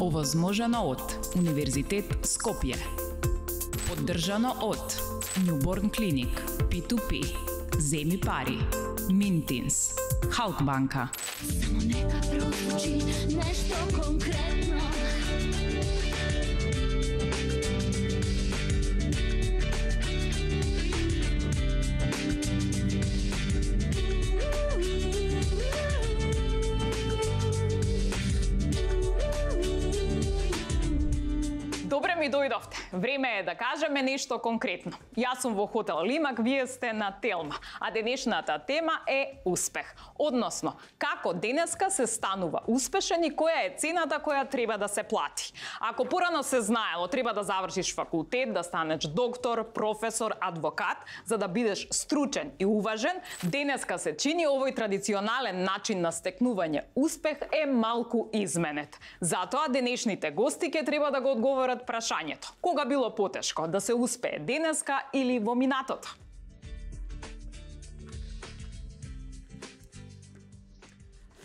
Овозможено од Универзитет Скопје. Поддржано од Newborn Clinic, P2P, Земи пари, Mintins, Halkbanka. Само нека прозвучи нешто конкретно. Добре ми дојдовте. Време е да кажеме нешто конкретно. Јас сум во хотел Лимак, вие сте на Телма, а денешната тема е успех. Односно, како денеска се станува успешен и која е цената која треба да се плати. Ако порано се знаело, треба да завршиш факултет, да станеш доктор, професор, адвокат, за да бидеш стручен и уважен, денеска се чини овој традиционален начин на стекнување успех е малку изменет. Затоа денешните гости ќе треба да го одговорат прашањето. Кога било потешко, да се успее денеска или во минатото?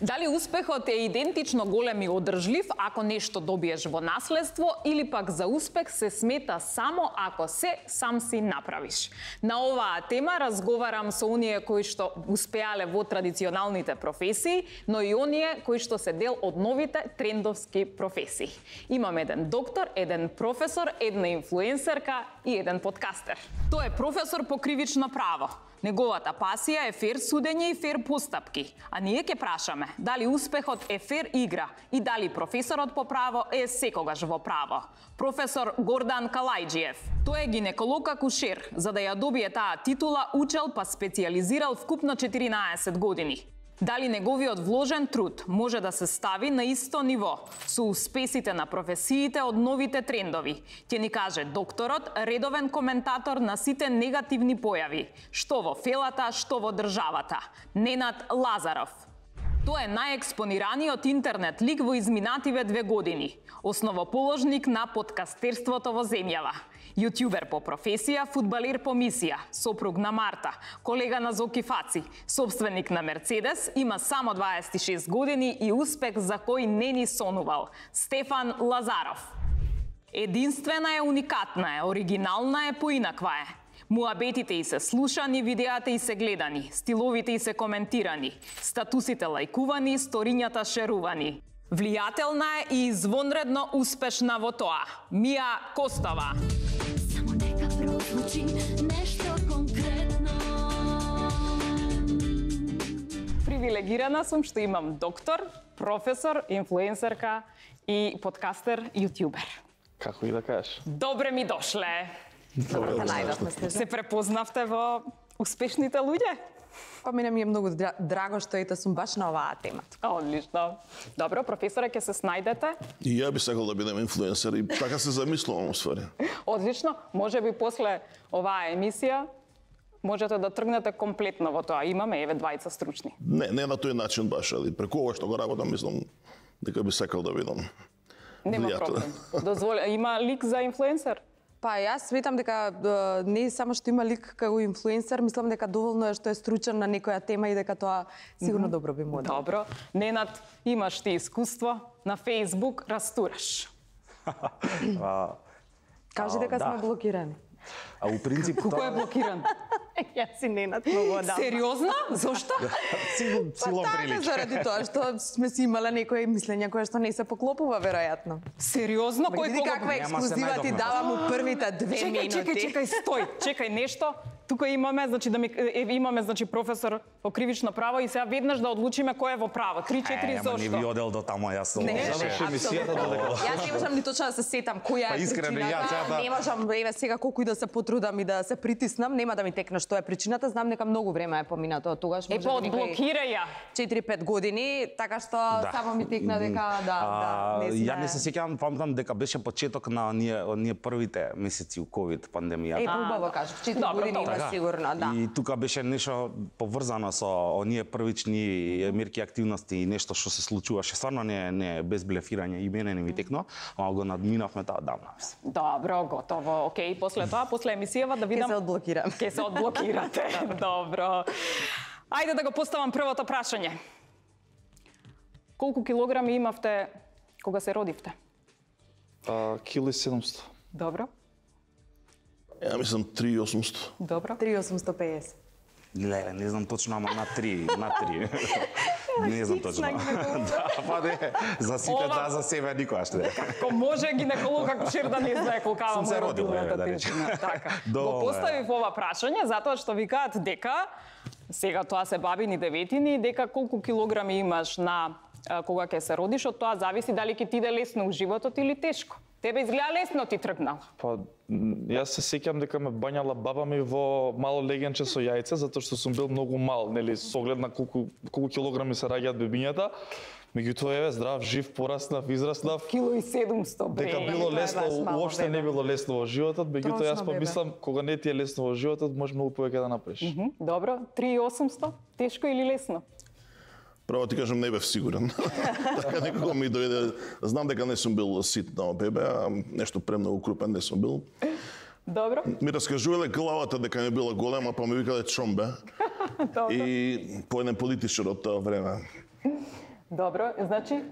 Дали успехот е идентично голем и одржлив ако нешто добиеш во наследство или пак за успех се смета само ако се сам си направиш? На оваа тема разговарам со оние кои што успеале во традиционалните професии, но и оние кои што се дел од новите трендовски професии. Имам еден доктор, еден професор, една инфлуенсерка и еден подкастер. Тој е професор по кривично право. Неговата пасија е фер судење и фер постапки. А ние ќе прашаме дали успехот е фер игра и дали професорот по право е секогаш во право. Професор Гордан Калајџиев. Тој е гинеколог акушер. За да ја добие таа титула, учел па специјализирал вкупно 14 години. Дали неговиот вложен труд може да се стави на исто ниво со успесите на професиите од новите трендови? Ќе ни каже докторот, редовен коментатор на сите негативни појави, што во фелата, што во државата. Ненад Лазаров. Тој е најекспонираниот интернет лик во изминативе 2 години. Основоположник на подкастерството во земјава. Јутјубер по професија, фудбалер по мисија, сопруг на Марта, колега на Зоки Фаци, собственик на Мерцедес, има само 26 години и успех за кој не ни сонувал. Стефан Лазаров. Единствена е, уникатна е, оригинална е, поинаква е. Муабетите и се слушани, видеата и се гледани, стиловите и се коментирани, статусите лајкувани, сторињата шерувани. Влијателна е и извонредно успешна во тоа. Мија Костова. Само нека прозвучи нешто конкретно. Привилегирана сум што имам доктор, професор, инфлуенсерка и подкастер, јутјубер. Како и да кажеш? Добре ми дошле. Добре да најдовме. Се препознавте во успешните луѓе? Па мене ми е многу драго што ете сум баш на оваа тема. Одлично. Добро, професоре, ќе се снајдете. И ја би сакал да бидем инфлуенсер и така се замислувам уствари. Одлично. Може би после оваа емисија можете да тргнете комплетно во тоа. Имаме еве двајца стручни. Не на тој начин баш, али преку ова што го работам, мислам дека би сакал да бидам. Нема проблем. Дозволи, има лик за инфлуенсер? Па јас сметам дека не само што има лик како инфлуенсер, мислам дека доволно е што е стручен на некоја тема и дека тоа сигурно добро би му дало. Добро. Ненад, имаш ти искуство на Facebook, растураш. Кажи дека сме блокирани. А у принцип Кој е блокиран? Јас си Ненад многу одамна. Сериозно? Зошто? силом Така, прилича. заради тоа што сме си имале некои мислења кои што не се поклопува веројатно. Сериозно? Кој Види каква Нема се ексклузива ти најдовме. давам у првите 2 минути. Чекај, стој. Чекај нешто. Тука имаме, значи имаме професор по кривично право и сега веднаш да одлучиме кој е во право. 3-4 Не зошто? би одел до таму, јас сум. Не, Заврши емисијата додека. Јас не можам ни точно да се сетам која Па е искрено, причината. јас сега да- Не можам, еве сега колку и да се потрудам и да се притиснам, нема да ми текне што е причината. Знам дека многу време е поминато од тогаш, Е, може па би некои одблокирај ја. 4-5 години, така што само ми текна дека не сме. Ја не се сеќавам, памтам дека беше почеток на оние првите месеци у ковид пандемијата. Е, убаво кажав, 4 Добро, години добро. има сигурно, да. И тука беше нешто поврзано со оние првични мерки активности и нешто што се случуваше. Стварно не без блефирање и мене не ми текно, ама го надминавме таа давна. Добро, готово. Океј, после тоа, после емисијава да Ке видам. се одблокирам. Ке се одблокирате. Добро. Ајде да го поставам првото прашање. Колку килограми имавте кога се родивте? Кило и 700. Добро. Ја мислам 3800. Добро. 3850. Леле, не знам точно, ама на 3. Не знам точно. Да, па не, за сите да, за себе никогаш не. Како може гинеколог акушер да не знае колкава Сум му се е родил, родилната да речем. тежина. Така. Го Добре. поставив ова прашање затоа што викаат дека сега тоа се бабини деветини, дека колку килограми имаш на кога ќе се родиш, од тоа зависи дали ќе ти иде лесно у животот или тешко. Тебе изгледа лесно ти тргнал. Па, јас се сеќам дека ме бањала баба ми во мало легенче со јајце, затоа што сум бил многу мал, нели, со оглед на колку килограми се раѓаат бебињата. Меѓутоа, еве, здрав, жив, пораснав, израснав. Кило и 700, бре. Дека било лесно, уопште не било лесно во животот, меѓутоа јас помислам, кога не ти е лесно во животот, може многу повеќе да направиш. Добро, 3800, тешко или лесно? Право ти кажам, не бев сигурен. Така некако ми дојде, знам дека не сум бил ситно бебе, а нешто премногу крупен не сум бил. Добро. Ми раскажувале главата дека ми била голема, па ми викале чомбе. И по еден политичар од тоа време. Добро, значи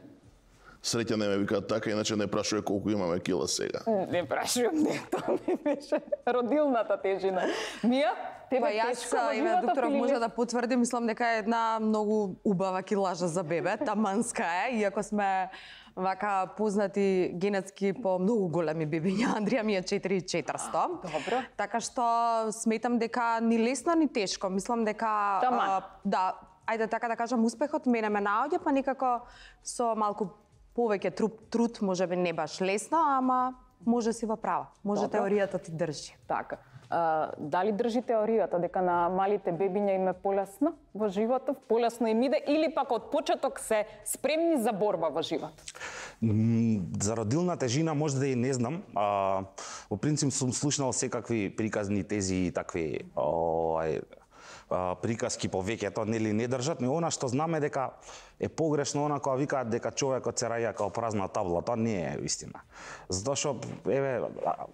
Среќа не ме викаат така, иначе не прашува колку имаме кила сега. не прашувам, не, тоа ми беше родилната тежина. Мија, тебе Па јас, тешко во еве, животот докторов или може лесно? да потврди, мислам дека е една многу убава килажа за бебе, таманска е, иако сме вака познати генетски по многу големи бебиња. Андрија ми е 4400. Добро. Така што сметам дека ни лесно ни тешко. Мислам дека Таман. да, ајде така да кажам, успехот мене ме наоѓа, па некако со малку повеќе труд, можеби не баш лесно, ама може си во права. Може Добро. теоријата ти држи. Така. Дали држи теоријата дека на малите бебиња им е полесно во животот, полесно им иде, или пак од почеток се спремни за борба во животот? За родилна тежина може да и не знам. Во принцип сум слушнал секакви приказни тези и такви приказки повеќето, нели не држат, но она што знаме дека е погрешно она кога викаат дека човекот се раѓа како празна табла, тоа не е вистина. Затоа што еве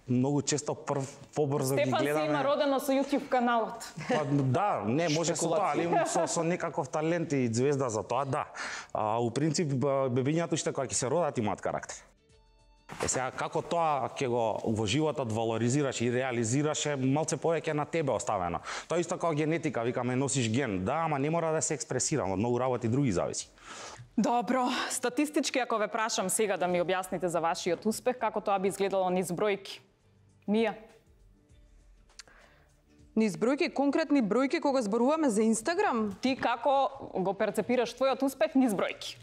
многу често побрзо ги Стефан си гледаме. има родено со YouTube каналот. Па, да, не може со тоа, али со некаков талент и звезда за тоа, да. У принцип бебињата уште кога ќе се родат имаат карактер. Сега, како тоа ќе го во животот валоризираш и реализираш е малце повеќе на тебе оставено. Тоа исто како генетика, викаме носиш ген, да, ама не мора да се експресира, од многу работи други зависи. Добро, статистички ако ве прашам сега да ми објасните за вашиот успех, како тоа би изгледало низ бројки? Мија? Низ бројки, конкретни бројки кога зборуваме за Инстаграм? Ти како го перцепираш твојот успех низ бројки?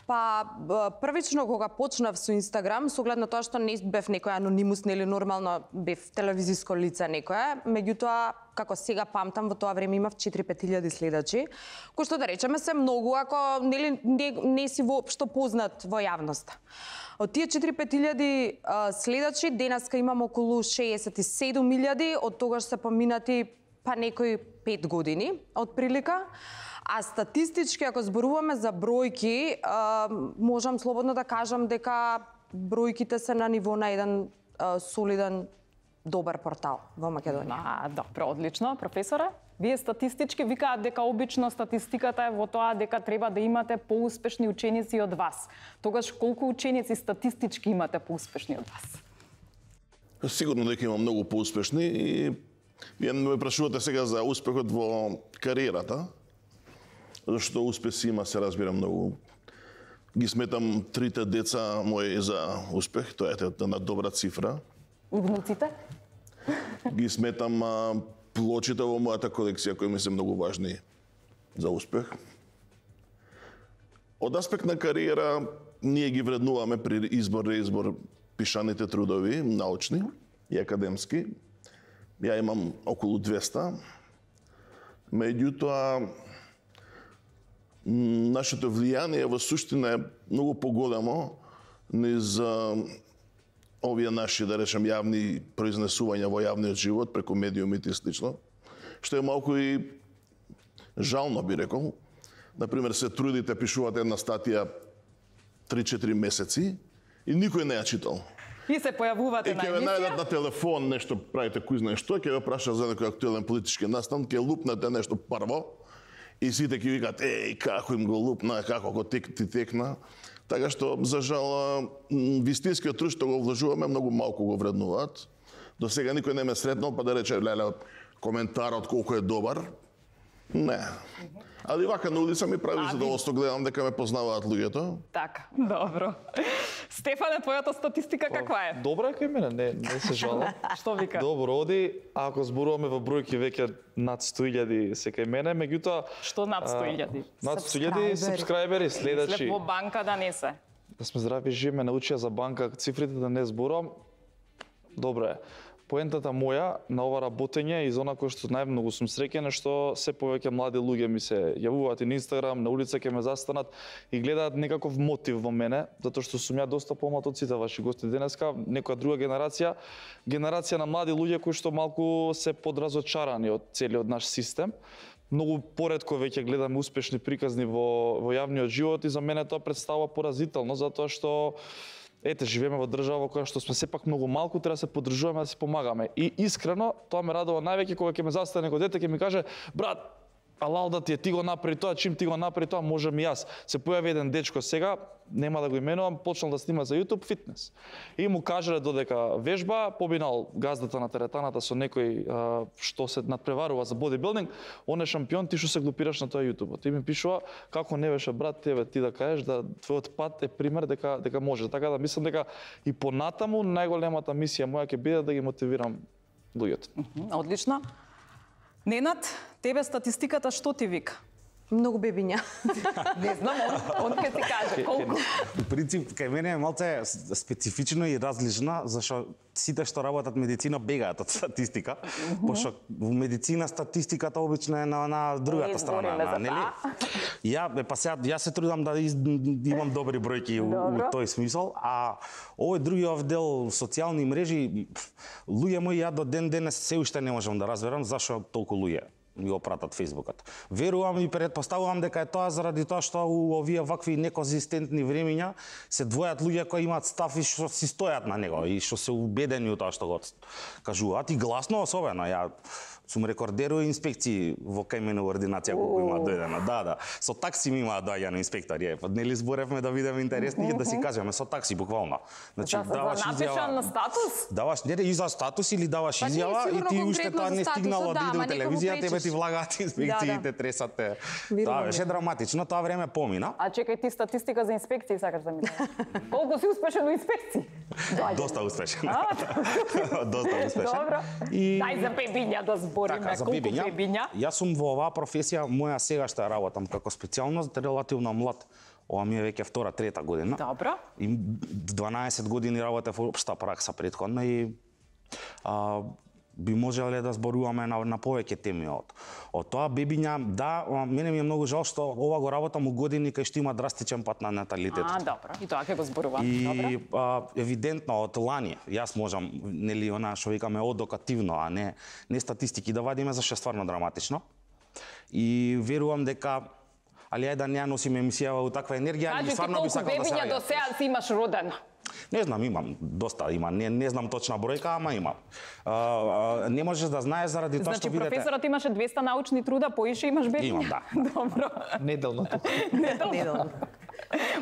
Па, првично кога почнав со Инстаграм, со оглед на тоа што не бев некоја анонимус, нели нормално бев телевизиско лице некое, меѓутоа, како сега памтам, во тоа време имав 4-5 илјади следачи, кои што да речеме се многу, ако нели не си воопшто познат во јавноста. Од тие 4-5 илјади следачи, денеска имам околу 67 илјади, од тогаш се поминати па некои 5 години, од прилика. А статистички, ако зборуваме за бројки, можам слободно да кажам дека бројките се на ниво на еден солиден, добар портал во Македонија. Добро, одлично. Професоре, вие статистички викаат дека обично статистиката е во тоа дека треба да имате поуспешни ученици од вас. Тогаш колку ученици статистички имате поуспешни од вас? Сигурно дека има многу поуспешни и вие ме прашувате сега за успехот во кариерата. Зашто успеси има, се разбира, многу. Ги сметам трите деца мои за успех, тоа е една добра цифра. И внуците? Ги сметам плочите во мојата колекција кои ми се многу важни за успех. Од аспект на кариера, ние ги вреднуваме при реизбор пишаните трудови, научни и академски. Ја имам околу 200. Меѓутоа, нашето влијание во суштина е многу поголемо низ овие наши, да речем, јавни произнесувања во јавниот живот преку медиумите и слично, што е малку и жално, би рекол. Например, се трудите, пишувате една статија 3-4 месеци и никој не ја читал. И се појавувате на емисија. И ќе ве најдат емисија? на телефон, нешто правите кој знае што, ќе ве праша за некој актуелен политички настан, ќе лупнете нешто прво и сите ќе викаат, како им го лупна, како го ти текна. Така што, за жал, вистинскиот труд што го вложуваме, многу малку го вреднуваат. До сега никој не ме сретнал, па да рече, леле, коментарот колку е добар. Не. Али вака на улица ми прави задоволство, гледам дека ме познаваат луѓето. Така, добро. Стефане, твојата статистика каква е? Добра е кај мене, не се жалам. Што вика? Добро оди, ако зборуваме во бројки веќе над 100.000 се кај мене, меѓутоа Што над 100.000? над 100.000 сабскрајбери, следачи. Слепо банка да не се. Да сме здрави и живи, ме научија за банка, цифрите да не зборувам. Добро е. Поентата моја на ова работење и зона кој што најмногу сум среќен е што се повеќе млади луѓе ми се јавуваат и на Инстаграм, на улица ќе ме застанат и гледаат некаков мотив во мене, затоа што сум ја доста помлад од сите ваши гости денеска, некоја друга генерација на млади луѓе кои што малку се подразочарани од целиот наш систем. Многу поретко веќе гледаме успешни приказни во јавниот живот и за мене тоа представува поразително, затоа што ете, живееме во држава во која што сме сепак многу малку, треба да се поддржуваме, да се помагаме. И искрено, тоа ме радува највеќе кога ќе ме застане некој дете, ќе ми каже, брат, алал да ти го направи тоа, чим ти го направи тоа, можам и јас. Се појави еден дечко сега, нема да го именувам, почнал да снима за YouTube фитнес. И му кажале додека вежба, побинал газдата на теретаната со некој што се надпреварува за бодибилдинг, он е шампион, ти што се глупираш на тоа YouTube. Ти ми пишува како не беше брат тебе ти да кажеш да твојот пат е пример дека може. Така да мислам дека и понатаму најголемата мисија моја ќе биде да ги мотивирам луѓето. Одлично. Ненад, тебе статистиката што ти вика? Многу бебиња. Не знам, он ќе ти каже колку. У принцип, кај мене е малце специфично и различна, зашто сите што работат медицина бегаат од статистика, пошто во медицина статистиката обично е на другата страна, нели? Јас се трудам да имам добри бројки у тој смисол, а овој другиот дел социјални мрежи, луѓе мои, ја до ден денес се уште не можам да разберам зашто толку луѓе ми го пратат фејсбукот. Верувам и претпоставувам дека е тоа заради тоа што у овие вакви неконзистентни времиња се двојат луѓе кои имаат став и што си стојат на него и што се убедени у тоа што го кажуваат и гласно особено. Ја сум рекордер у инспекции во кај мене ординација колку има дојдено. Да. Со такси ми имаат доаѓано инспектори. Нели зборевме да видиме интересни да си кажеме со такси буквално. Значи даваш напишан на статус? Даваш не и за статус или даваш изјава и ти уште тоа не стигнало да иде на телевизија, тебе ти влагаат инспекциите, тресате. Тоа беше драматично, тоа време помина. А чекај, ти статистика за инспекции сакаш да ми кажеш? Колку си успешен во инспекции? Доста успешен. Доста успешен. Добро. Дај за бебиња да збориме, колку бебиња? Јас сум во оваа професија, моја сегашна работам како специјалност релативно млад. Ова ми е веќе втора, трета година. Добро. И 12 години работев во општа пракса претходно и би можеле да зборуваме на повеќе теми од тоа. Бебиња, да, мене ми е многу жал што ова го работам у години кај што има драстичен пат на наталитетот. Добро. И тоа ќе го зборувам. И евидентно од лани, јас можам, нели, она што викаме одокативно, а не статистики да вадиме, зашто е стварно драматично. И верувам дека али ајде да не носиме емисија у таква енергија, али стварно би сакал да се бебиња до сега си имаш родено? Не знам, имам доста, не знам точна бројка, ама имам. Не можеш да знаеш заради тоа што видите. Значи професорот имаше 200 научни труда, поише имаш бебиња? Имам, да. Добро. Неделно.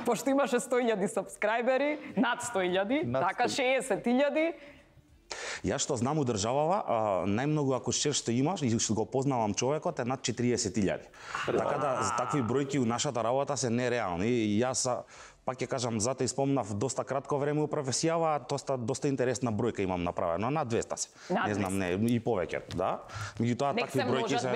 Пошто имаше 100.000 сабскрајбери, над 100.000, така 60.000. Јас што знам у државава, најмногу акушер што имаш и што го познавам човекот е над 40.000. Така да за такви бројки у нашата работа се нереални. И јас пак ќе кажам, затоа испомнав доста кратко време у професијава, доста интересна бројка имам направено, над 200 се. Не знам, не, и повеќе, да. Меѓутоа такви бројки се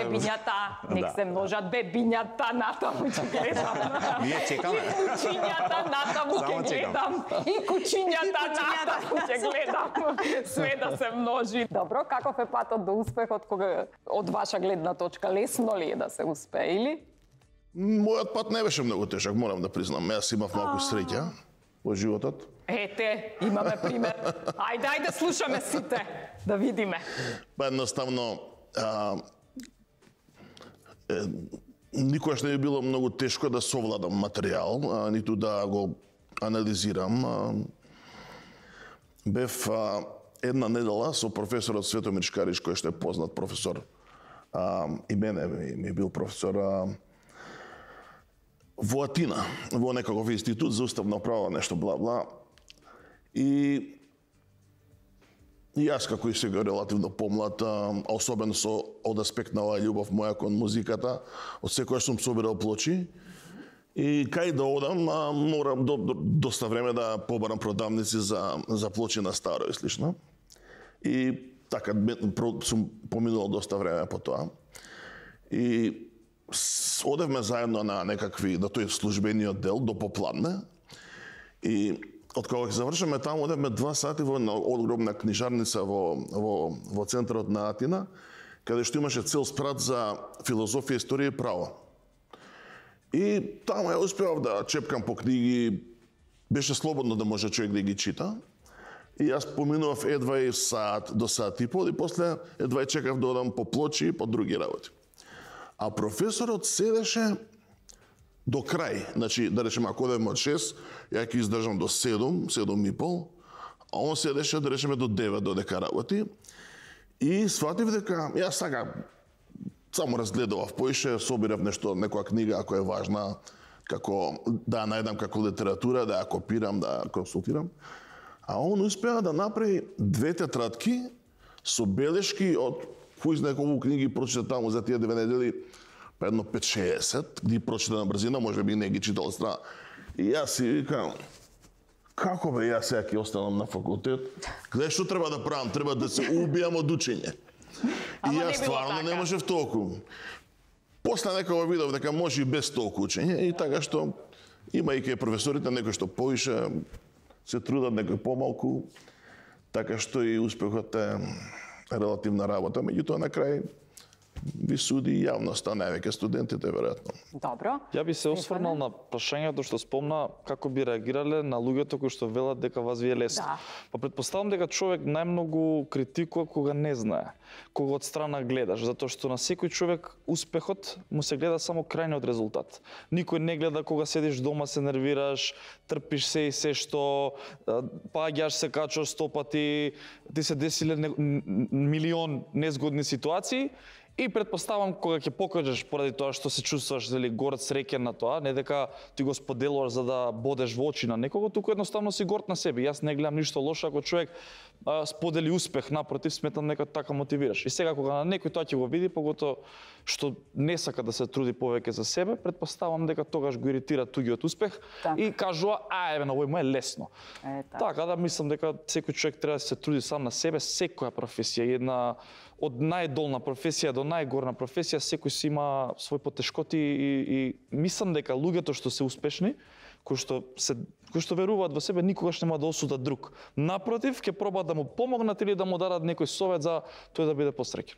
Нек се множат бебињата, натаму ќе гледам. Ние чекаме. И кучињата натаму ќе гледам. И кучињата натаму ќе гледам. Све да се множи. Добро, каков е патот до успехот кога од ваша гледна точка? Лесно ли е да се успее или? Мојот пат не беше многу тежак, морам да признам. Јас имав малку среќа во животот. Ете, имаме пример. Ајде, слушаме сите, да видиме. Па едноставно, никогаш не би било многу тешко да совладам материјал, ниту да го анализирам. Бев една недела со професорот Светомир Шкарич, кој што е познат професор, и мене ми бил професор, во Атина, во некаков институт за уставно право, нешто бла-бла. И јас како и сега релативно помлад, особено со од аспект на оваа љубов моја кон музиката, од секојаш сум собирал плочи. И кај да одам, морам доста време да побарам продавници за плочи на старо и слично. И така сум поминувал доста време по тоа. И одевме заедно на некакви, на тој службениот дел до попладне. И од кога ќе завршиме таму, одевме 2 сати во една огромна книжарница во центарот на Атина, каде што имаше цел спрат за филозофија, историја и право. И таму ја успеав да чепкам по книги, беше слободно да може човек да ги чита. И јас поминував едва и сат до сат и пол, и после едва и чекав да одам по плочи и по други работи. А професорот седеше до крај, значи, да речеме, ако одеме од 6, ја ќе издржам до 7, 7 и пол, а он седеше, да речеме, до 9 додека работи. И сватив дека, јас така, само разгледував поише, собирав нешто, некоја книга, ако е важна, како да ја најдам како литература, да ја копирам, да ја консултирам. А он успеа да направи 2 тетрадки со белешки од кој знае колку книги прочита таму за тие 2 недели, па едно 5-60, ги прочита на брзина, може би не ги читал страна. И јас си викам, како бе јас сега ќе останам на факултет? Гледај што треба да правам, треба да се убијам од учење. И јас стварно не можев толку. После некој видов дека може и без толку учење, и така што имајќи професорите некој што поише се трудат, некој помалку, така што и успехот е релативна работа, меѓутоа на крај ви суди јавноста, највеќе студентите веројатно. Добро. Ја би се осврнал на прашањето што спомна, како би реагирале на луѓето кои што велат дека вас ви е лесно. Да. Па предпоставам дека човек најмногу критикува кога не знае, кога од страна гледаш, затоа што на секој човек успехот му се гледа само крајниот резултат. Никој не гледа кога седиш дома, се нервираш, трпиш се и се што, паѓаш се, качаш 100 пати, ти се десиле милион незгодни ситуации. И предпоставам кога ќе покажеш поради тоа што се чувствуваш дали горд, среќен на тоа, не дека ти го споделуваш за да бодеш во очи на некого, туку едноставно си горд на себе. Јас не гледам ништо лошо ако човек сподели успех, напротив, сметам дека така мотивираш. И сега кога на некој тоа ќе го види, поготоа што не сака да се труди повеќе за себе, предпоставам дека тогаш го иритира туѓиот успех и кажува, еве на овој му е лесно. Така да мислам дека секој човек треба да се труди сам на себе, секоја професија, една од најдолна професија до најгорна професија, секој си има свој потешкоти и мислам дека луѓето што се успешни, кои што веруваат во себе, никогаш нема да осудат друг. Напротив, ќе пробаат да му помогнат или да му дадат некој совет за тој да биде посреќен.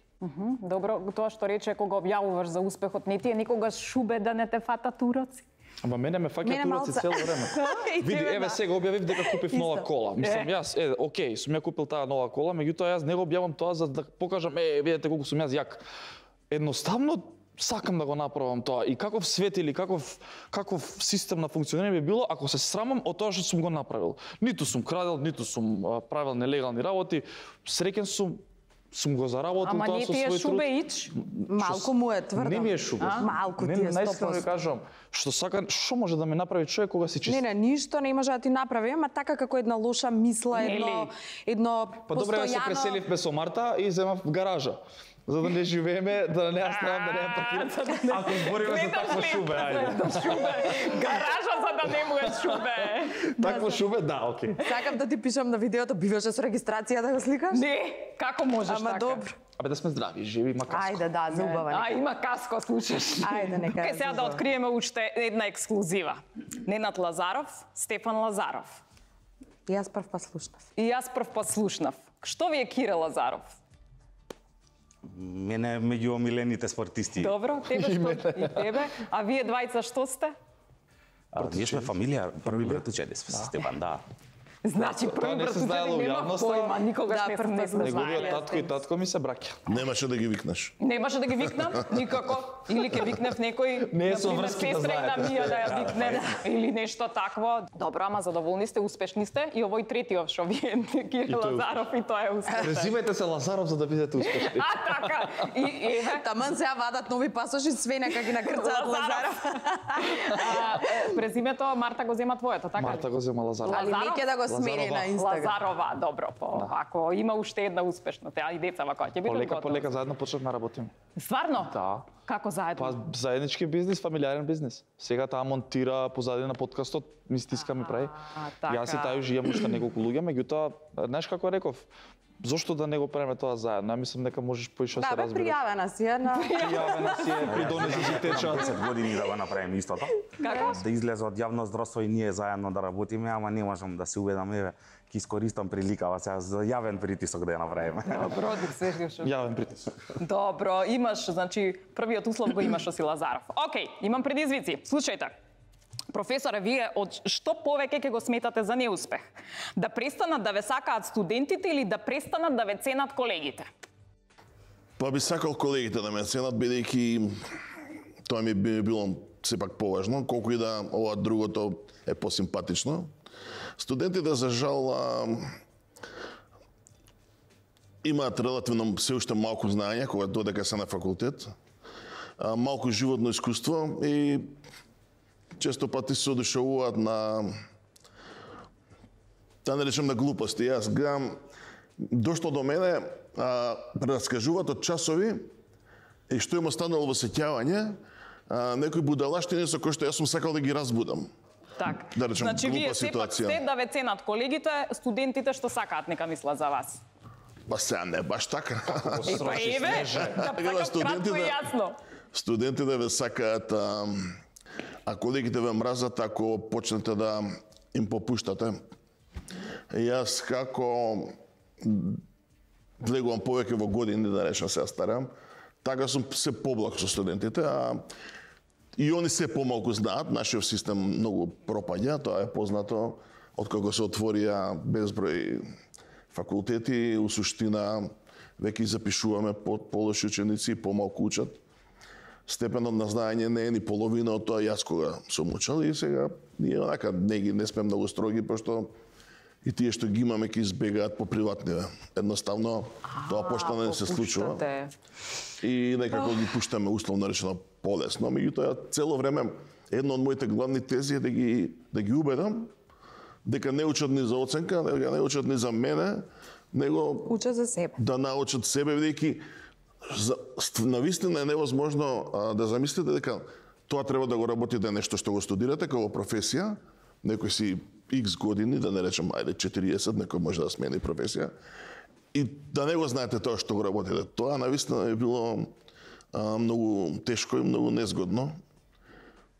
Добро, тоа што рече кога објавуваш за успехот, не ти е никогаш шубе да не те фатат уроци? Ама мене ме фаќаат уроци цело време. Види, еве сега објавив дека купив нова кола. Мислам, јас, окей, сум ја купил таа нова кола, меѓутоа јас не го објавам тоа за да покажам, видете колку сум јас јак. Едноставно сакам да го направам тоа. И каков свет или каков систем на функционирање би било ако се срамам од тоа што сум го направил. Ниту сум крадел, ниту сум правил нелегални работи. Среќен сум го заработил тоа со свој труд. Ама не ти е шубе ич? Малку му е тврдо. Не ми е шубе. Малку ти е 100%. Наистина ви кажувам, што може да ме направи човек кога се чисти? Не, ништо не може да ти направи, ама така како една лоша мисла, едно Па добре, ја се преселивме со Марта и земав гаража. За да не живееме, да не ја ставам, да не ја паркирам. Ако збориме за такво шубе, ајде. Гаража за да не му е шубе. Такво шубе, да, окей. Сакам да ти пишам на видеото, биваше со регистрација да го сликаш? Не, како можеш така? Ама добро. Абе да сме здрави, живи, има каско. Ајде, да, за убава. Има каско, слушаш. Ајде, нека. Ке сега да откриеме уште една ексклузива. Ненад Лазаров, Стефан Лазаров. И јас прв пат слушнав. И јас прв пат слушнав. Што ви е Кире Лазаров? Мене меѓу омилените спортисти. Добро, тебе што и тебе. А вие двајца што сте? Ние сме фамилија, први братучени сме со Стефан, да. Значи Тоа не први се знаело пратучени у нема јавноста. појма, никогаш Да, не прв сме пат сме Неговиот знаеле. татко и татко ми се браќа. Немаше да ги викнеш. Немаше да ги викнам, никако. Или ќе викнев некој, Не е со например, врски да сестра знаете. на Мија да ја викнем, или нешто такво. Добро, ама задоволни сте, успешни сте. И овој третиот што вие, Кирил Лазаров, и тоа е успешен. Презимете се Лазаров за да бидете успешни. А, така. И еве, Таман сега вадат нови пасоши, све нека ги накрцаат Лазаров. презимето Марта го зема твоето, така ли? Марта го зема Лазаров. Али Лазаров? неќе да го смени на Инстаграм. Лазарова, добро, ако има уште една успешна, теа и децава која ќе бидат готови. Полека заедно почнавме да работиме. Стварно? Да. Како заедно? Па заеднички бизнис, фамилиарен бизнис. Сега таа монтира позади на подкастот, ми стиска ми прави. така. Јас и тај живеам уште неколку луѓе, меѓутоа, знаеш како реков, зошто да не го правиме тоа заедно? Ја мислам дека можеш поише да Да, се бе, разбереш. пријавена си една. Пријавена си е, придонеси си течат. 10 години да го направиме истото. Како? Да излезе од јавно здравство и ние заедно да работиме, ама не можам да се уведам, еве, ќе искористам приликава сега за јавен притисок да ја направиме. Добро, дик се шо. Јавен притисок. Добро, имаш, значи, првиот услов го имаш оси Лазаров. Океј, имам предизвици. Слушајте. Професоре, вие од што повеќе ќе го сметате за неуспех? Да престанат да ве сакаат студентите или да престанат да ве ценат колегите? Па би сакал колегите да ме ценат, бидејќи тоа ми би било сепак поважно, колку и да ова другото е посимпатично. Студентите, за жал, имаат релативно се уште малку знаење кога додека се на факултет, малку животно искуство и често пати се одушевуваат на, да не речем, на глупости. Јас гледам, дошло до мене, раскажуваат од часови и што им останало во сеќавање, некои будалаштини со кои што јас сум сакал да ги разбудам. Так. Да речем, значи, вие глупа сепак ситуација. сте да ве ценат колегите, студентите што сакаат нека мислат за вас. Па сега не баш така. Па еве, да Ева, така кратко и јасно. Студентите ве сакаат, а колегите ве мразат ако почнете да им попуштате. Јас како влегувам повеќе во години, да речем се старам, така сум се поблаг со студентите, а и они се помалку знаат, нашиот систем многу пропаѓа, тоа е познато, откако се отворија безброј факултети, у суштина веќе запишуваме полоши ученици, помалку учат. Степенот на знаење не е ни половина од тоа јас кога сум учел и сега ние онака не сме многу строги, пошто и тие што ги имаме ќе избегаат по приватниве. Едноставно тоа пошто не се случува. И некако ги пуштаме условно речено полесно, меѓутоа цело време едно од моите главни тези е да ги убедам дека не учат ни за оценка, дека не учат ни за мене, него Учат за себе. да научат себе, бидејќи навистина е невозможно да замислите дека тоа треба да го работите нешто што го студирате како професија, некој си X години, да не речем, ајде 40, некој може да смени професија, и да не го знаете тоа што го работите. Тоа навистина е било многу тешко и многу незгодно.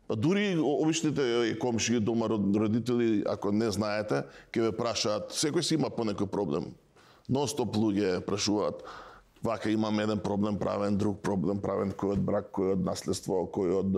Па дури обичните комши, дома родители, ако не знаете, ќе ве прашаат, секој си има по некој проблем. Нон-стоп луѓе прашуваат, вака имам еден проблем правен, друг проблем правен, кој од брак, кој од наследство, кој од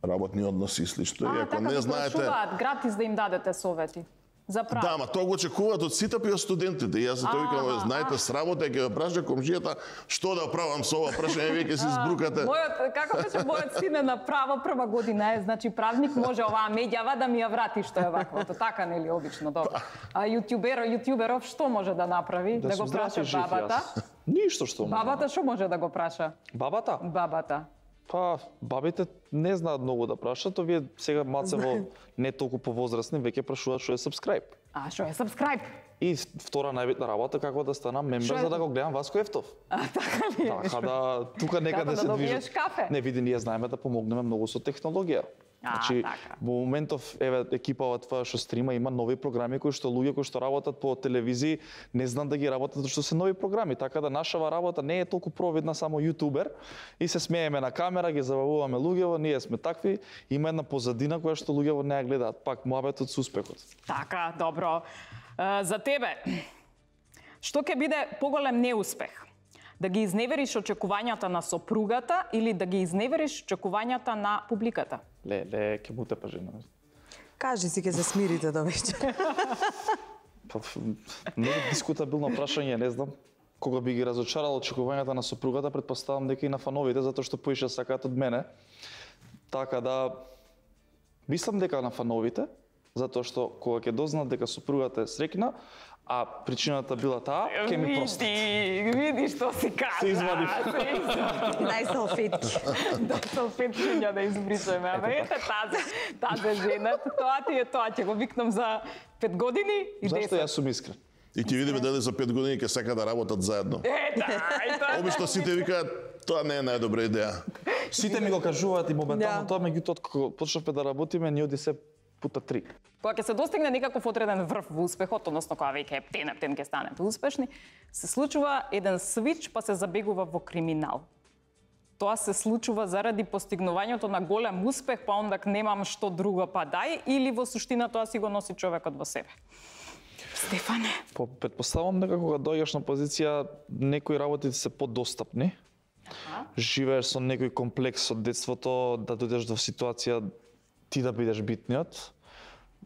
работни односи и слично. И ако така не ви знаете, прашуваат гратис да им дадете совети. За право. да, ма тоа го очекуваат од сите и од студентите. И јас за тоа викам, знаете, срамота е ќе ве праша комшијата, што да правам со ова прашање, веќе се збрукате. Како беше мојот син е направо прва година е, значи правник може оваа медјава да ми ја врати што е ваквото, така нели обично, добро. А јутјуберов што може да направи? Да го праша бабата? Ништо што може. Бабата што може да го праша? Бабата? Бабата. Па, бабите не знаат многу да прашат, овие сега малце во не толку повозрастни веќе прашуваат што е subscribe. А што е subscribe? И втора најбитна работа како да станам мембер за да го гледам Васко Ефтов. Така ли? Така да тука некаде Како се да движи. добиеш кафе? Не, види, ние знаеме да помогнеме многу со технологија. Значи, така. во моментов, еве, екипава твоја што стрима има нови програми кои што луѓе кои што работат по телевизии не знаат да ги работат, што се нови програми, така да нашава работа не е толку провидна само јутубер и се смееме на камера, ги забавуваме луѓево, ние сме такви, има една позадина која што луѓево не ја гледаат, пак муабетот со успехот. Така, добро. За тебе, што ќе биде поголем неуспех? Да ги изневериш очекувањата на сопругата или да ги изневериш очекувањата на публиката? Ле, ќе му тепа жена. Кажи си, ќе се смирите до вечер. Не е дискутабилно прашање, не знам. Кога би ги разочарал очекувањата на сопругата, претпоставам дека и на фановите, затоа што поише сакаат од мене. Така да, мислам дека на фановите, затоа што кога ќе дознаат дека супругата е среќна, а причината била таа, ќе ми простат. Види што си кажа. Се извади. Нај салфетки. Да, салфетки да избришеме. Абе, ете тази жена, тоа ти е тоа, ќе го викнам за 5 години и 10. Зашто јас сум искрен? И ќе видиме дали за 5 години ќе сака да работат заедно. Обично сите викаат, тоа не е најдобра идеја. Сите ми го кажуваат и моментално тоа, меѓутоа кога почнавме да работиме, ни оди се пута 3. Кога ќе се достигне некаков одреден врв во успехот, односно кога веќе ептен ќе станете успешни, се случува еден свич па се забегува во криминал. Тоа се случува заради постигнувањето на голем успех, па ондак немам што друго па дај, или во суштина тоа си го носи човекот во себе. Стефане. Предпоставам дека кога доаѓаш на позиција, некои работи се подостапни. Живееш со некој комплекс од детството, да дојдеш до ситуација ти да бидеш битниот.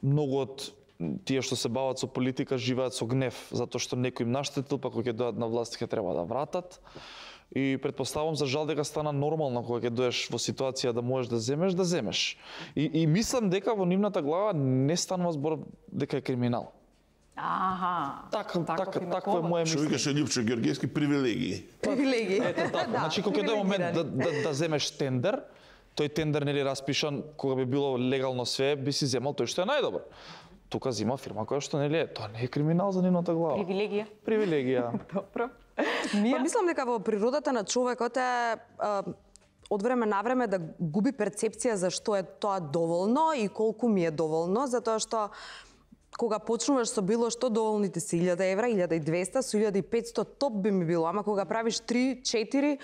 Многу од тие што се бават со политика живеат со гнев, затоа што некој им наштетил, па кога ќе дојдат на власт ќе треба да вратат. И предпоставам за жал дека стана нормално кога ќе доеш во ситуација да можеш да земеш. И мислам дека во нивната глава не станува збор дека е криминал. Такво е моје Што мислење. викаше Љупчо Ѓорѓевски, привилегии. Привилегии. Ете така. Значи кога ќе дојде момент да земеш тендер, тој тендер нели распишан кога би било легално све, би си земал тој што е најдобар. Тука зима фирма која што нели е, тоа не е криминал за нивната глава. Привилегија. Добро. Па мислам дека во природата на човекот е од време на време да губи перцепција за што е тоа доволно и колку ми е доволно, затоа што кога почнуваш со било што, доволните се 1000 евра, 1200, со 1500 топ би ми било, ама кога правиш 3, 4,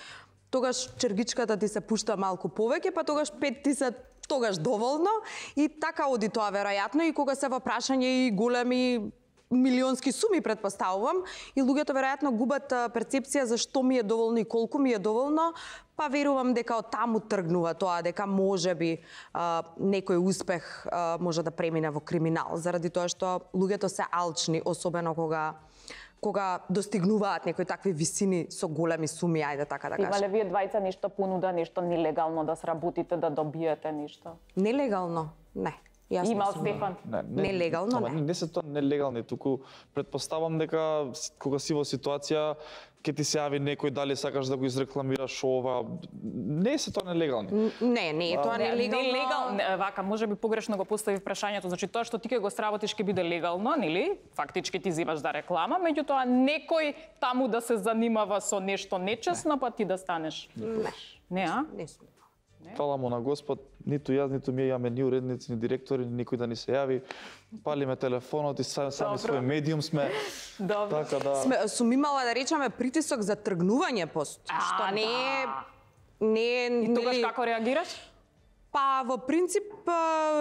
тогаш чергичката ти се пушта малку повеќе, па тогаш 5 ти се тогаш доволно и така оди тоа веројатно и кога се во прашање и големи милионски суми предпоставувам и луѓето веројатно губат перцепција за што ми е доволно и колку ми е доволно, па верувам дека од таму тргнува тоа, дека можеби некој успех може да премине во криминал, заради тоа што луѓето се алчни, особено кога достигнуваат некои такви висини со големи суми, ајде така да кажам. Имале вие двајца нешто понуда, нешто нелегално да сработите, да добиете нешто? Нелегално? Не. Имал Стефан? Нелегално не. Не се тоа нелегални, туку предпоставам дека кога си во ситуација ќе ти се јави некој дали сакаш да го изрекламираш ова, не се тоа нелегални. Не е тоа нелегално. Вака, можеби погрешно го постави прашањето, значи тоа што ти ќе го сработиш ќе биде легално, нели? Фактички ти зимаш да реклама, меѓутоа некој таму да се занимава со нешто нечесно, па ти да станеш. Не, а? Не сум. Фала му на Господ, ниту јас, ниту ми имаме ни уредници, ни директори, никој да ни се јави. Палиме телефонот и сами свој медиум сме. Добро. Така да... Сум имала да речеме притисок за тргнување пост, што не е И тогаш како реагираш? Па во принцип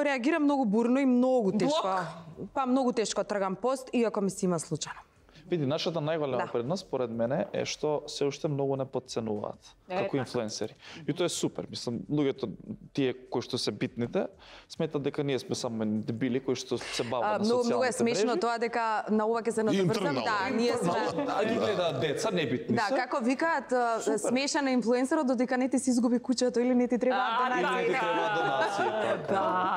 реагирам многу бурно и многу тешко. Блок? Па многу тешко тргам пост иако ми се има случајно. Види, нашата најголема предност, според мене, е што се уште многу не подценуваат како инфлуенсери. И тоа е супер. Мислам, луѓето тие кои што се битните, сметат дека ние сме само дебили кои што се бават на социјалните мрежи. Многу е смешно тоа дека на ова ќе се надоврзам. Да, ние сме. Ги гледаат деца, небитни се. Да, како викаат, смешан е инфлуенсерот додека не ти си изгуби куќето или не ти треба донација.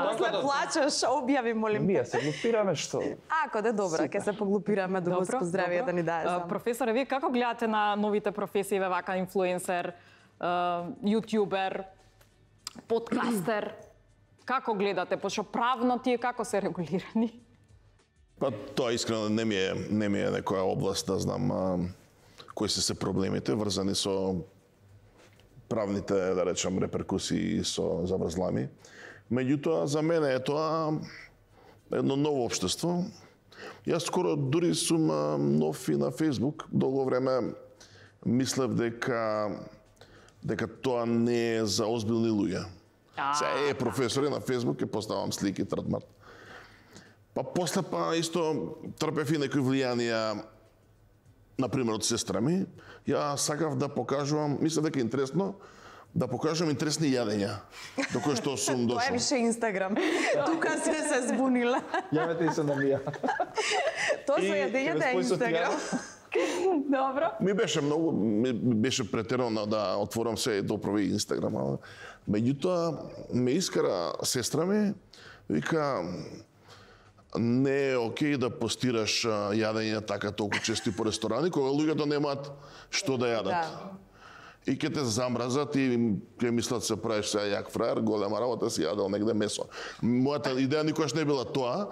После плачеш, објави, молим. Ние се глупираме што? Ако да добро, ќе се поглупираме до Господ здравие да ни даде. Професоре, вие како гледате на новите професии, вака инфлуенсер, јутјубер, подкастер? Како гледате? Пошто правно тие како се регулирани? Па тоа искрено не ми е некоја област да знам кои се проблемите врзани со правните, да речам, реперкусии со заврзлами. Меѓутоа, за мене е тоа едно ново општество. Јас скоро дури сум нов и на Facebook. Долго време мислев дека тоа не е за озбилни луѓе. Се професори на Facebook ќе поставам слики тратмат. Па после исто трпев и некои влијанија, например од сестра ми. Ја сакав да покажувам, мислев дека е интересно, Да покажам интересни јадења, до кои што сум Тоа е дошол. више Инстаграм. Тука се збунила. Јавете и се на мија. Тоа со јадењата е Инстаграм. Добро. Ми беше претерано да отворам се и доправи Инстаграм. Меѓутоа, ме искара сестра ми, вика, не е окей да постираш јадење така толку чести по ресторани, кога луѓето немаат што да јадат. И ќе те замразат и ќе мислат се правиш сега јак фраер, голема работа си јадел негде месо. Мојата идеја никогаш не била тоа.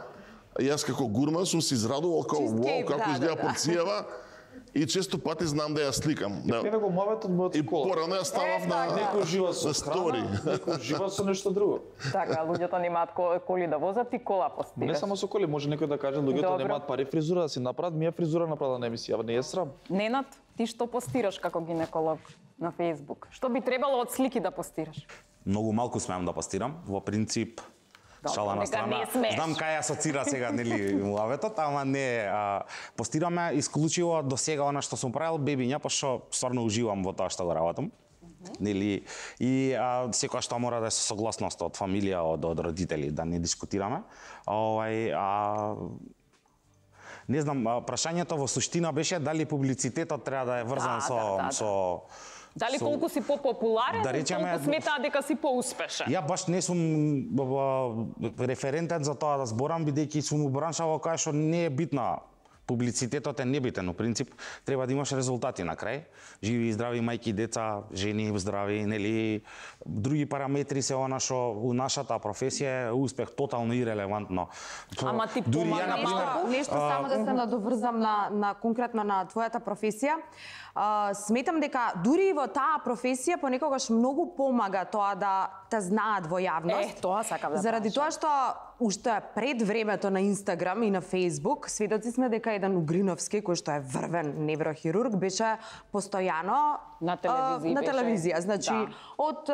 Јас како гурман сум се израдувал како Cheesecake, вау, како изгледа да. порцијава. И често пати знам да ја сликам. Еве го моветот мојот И кола. порано ја ставав на Некој жива со стори. храна, некој жива со нешто друго. Така, луѓето немаат коли да возат и кола постираш. Не само со коли, може некој да каже луѓето Добро. немаат пари фризура да си направат, ми е фризура направила на емисија, не е срам. Ненад, ти што постираш како гинеколог на Facebook? Што би требало од слики да постираш? Многу малку смеам да постирам. Во принцип, Добро, шала на нека страна. не смееш. Знам кај асоцира сега нели муаветот, ама не. Постираме исклучиво до сега она што сум правил бебиња, пошто стварно уживам во тоа што го работам. Нели и секоја што мора да е со согласност од фамилија, од родители, да не дискутираме. Не знам, прашањето во суштина беше дали публицитетот треба да е врзан со Дали колку си попопуларен, да речеме, толку сметаат дека си поуспешен? Ја баш не сум референтен за тоа да зборам, бидејќи сум у бранша во која што не е битна. Публицитетот е небитен, но принцип треба да имаш резултати на крај. Живи и здрави мајки, деца, жени здрави, нели други параметри се она што у нашата професија е успех тотално ирелевантно. Ама ти дури ја помага на пример, Нешто само да се надоврзам на конкретно на твојата професија. Сметам дека дури и во таа професија понекогаш многу помага тоа да те знаат во јавност. Тоа сакам да Заради тоа што уште пред времето на Инстаграм и на Фејсбук, сведоци сме дека еден Угриновски, кој што е врвен неврохирург, беше постојано На телевизија на беше. телевизија. Значи, Да. од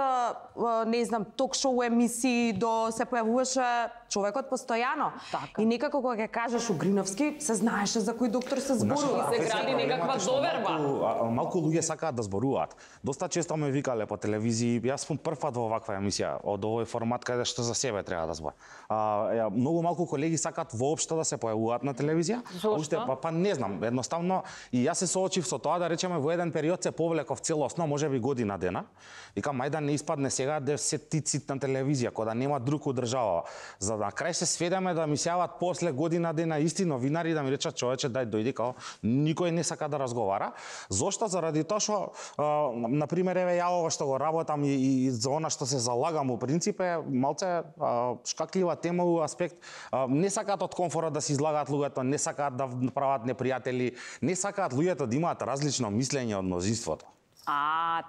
не знам, ток-шоу емисии до се појавуваше човекот постојано. Така. И некако кога ќе кажеш Угриновски, се знаеше за кој доктор се зборува. се гради некаква доверба. Малку луѓе сакаат да зборуваат. Доста често ме викале по телевизии, јас сум прв пат во ваква емисија, од овој формат каде што за себе треба да збор. Многу малку колеги сакаат воопшто да се појавуваат на телевизија. Зошто? Па не знам, едноставно и јас се соочив со тоа, да речеме во еден период се повлеков целосно, можеби година дена. Викам ајде да не испадне сега да се тицит на телевизија, кога нема друг од држава. За на крај се сведеме да ми се јават после година дена исти новинари да ми речат човече дај дојди, као никој не сака да разговара. Зошто? Заради тоа што на пример еве ја ова што го работам и за она што се залагам у принцип е малце шкаклива тема у аспект не сакаат од комфорот да се излагаат луѓето, не сакаат да прават непријатели, не сакаат луѓето да имаат различно мислење од мнозинството.